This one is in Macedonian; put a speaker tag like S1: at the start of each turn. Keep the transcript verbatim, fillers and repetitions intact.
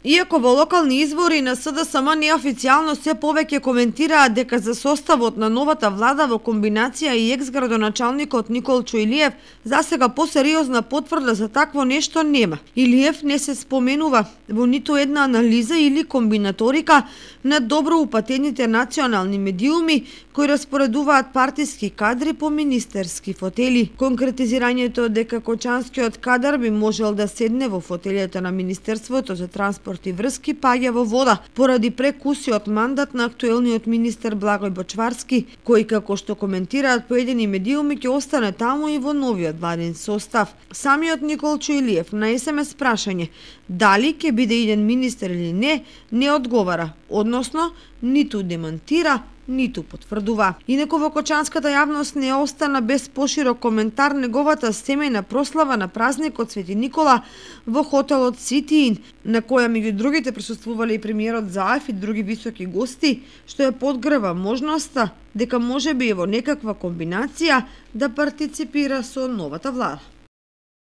S1: Иако во локални извори на СДСМ неофицијално се повеќе коментираат дека за составот на новата влада во комбинација и екс-градоначалникот Николчо Илиев засега посериозна потврда за такво нешто нема. Илиев не се споменува во ниту една анализа или комбинаторика на добро упатените национални медиуми кои распоредуваат партиски кадри по министерски фотели. Конкретизирањето дека кочанскиот кадар би можел да седне во фотелите на Министерството за транспорт и врски паѓа во вода поради прекусиот мандат на актуелниот министер Благој Бочварски, кој како што коментираат поедини медиуми ќе остане таму и во новиот владин состав. Самиот Николчо Илиев на ес ем ес прашање дали ќе биде иден министер или не, не одговара, односно ниту демантира, ниту потврдува. Инаку во кочанската јавност не остана без поширок коментар неговата семејна прослава на празникот Свети Никола во хотелот Сити Ин, на која меѓу другите присуствувале и премиерот Заев и други високи гости, што ја подгрева можноста дека можеби е во некаква комбинација да партиципира со новата влада.